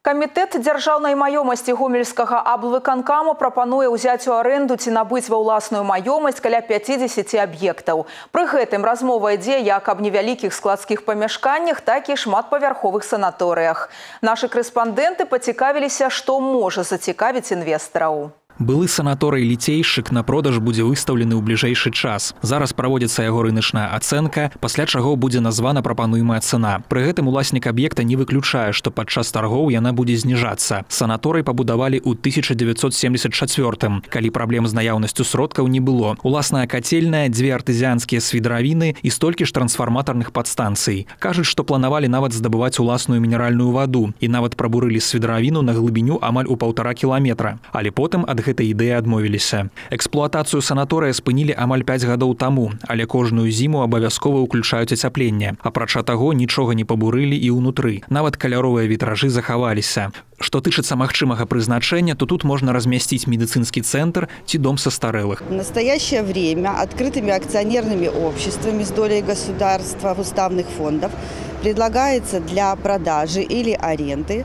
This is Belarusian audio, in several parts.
Камітэт дзяржаўнай маёмасці гомельскага аблвыканкама прапануе ўзяць у арэнду ці набыць ва ўласную маёмасць каля 50 аб'ектаў. Пры гэтым размова ідзе як аб невялікіх складскіх памяшканнях, так і шматпавярховых санаторыях. Нашы корэспандэнты пацікавіліся, што можа зацікавіць інвестараў. Былы санаторый «Ліцейшчык» на продаж будзе выстаўлены ў бліжэйшы час. Зараз праводзіцца яго рыначная ацэнка, пасля чаго будзе названа прапануемая цана. Пры гэтым уласнік аб'екта не выключае, што падчас таргоў яна будзе зніжацца. Санаторый пабудавалі ў 1974-м, калі праблем з наяўнасцю сродкаў не было. Уласная кацельная, 2 артызіанскія свідравіны і столькі ж трансфарматарных падстанцый. Кажуць, што планавалі нават здабываць уласную мінеральную ваду і нават прабурылі свідравіну на глыбіню амаль у 1,5 кіламетра. Але потым ад гэтай ідэі адмовіліся. Эксплуатацыю санаторыя спынілі амаль 5 гадоў таму, але кожную зіму абавязкова ўключаюць ацяпленне. Апрача таго, нічога не пабурылі і ўнутры. Нават каляровыя вітражы захаваліся. Што тычыцца магчымага прызначэння, то тут можна размясціць медыцынскі цэнтр ці дом састарэлых. В настоящее время открытыми акционерными обществами с долей государства в уставных фондов предлагается для продажи или аренды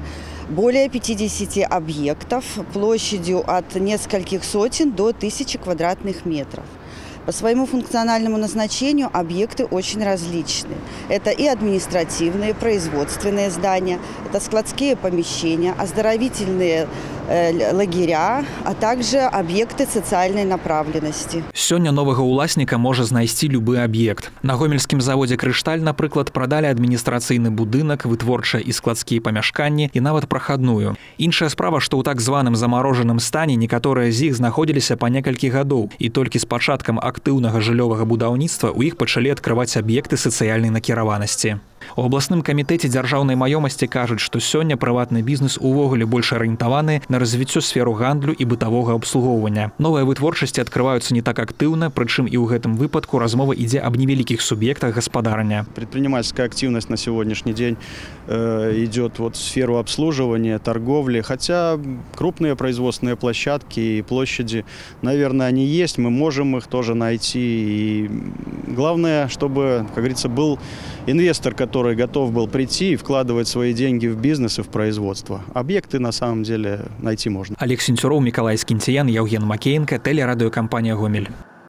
более 50 объектов площадью от нескольких сотен до 1000 квадратных метров. По своему функциональному назначению объекты очень различны. Это и административные, производственные здания, это складские помещения, оздоровительные лагеря, а также объекты социальной направленности. Сёння новага уласніка можа знайсці любы аб'ект. На гомельскім заводзе «Крышталь», напрыклад, прадалі адміністрацыйны будынак, вытворчыя і складскія памяшканні і нават прахадную. Іншая справа, што ў так званым замарожаным стане некаторыя з іх знаходзіліся па некалькі гадоў, і толькі з пачаткам актыўнага жыллёвага будаўніцтва ў іх пачалі адкрываць аб'екты сацыяльнай накіраванасці. У абласным камітэце дзяржаўнай маёмасці кажуць, што сёння прыватны бізнес увогуле больш арыентаваны на развіццё сферу гандлю і бытавога абслугоўвання. Новыя вытворчасці адкрываюцца не так актыўна, прычым і ў гэтым выпадку размова ідзе аб невялікіх суб'ектах гаспадарання. Предпринимательская активность на сегодняшний день идет в сферу обслуживания, торговли, хотя крупные производственные площадки и площади, наверное, они есть, мы можем их тоже найти. И главное, чтобы, как говорится, был инвестор, который готов был прийти и вкладывать свои деньги в бизнес и в производство. Объекты на самом деле найти можно. Олег Сенцюроў, Миколай Скінціян, Яўген Макеенко, телерадиокомпания «Гомель».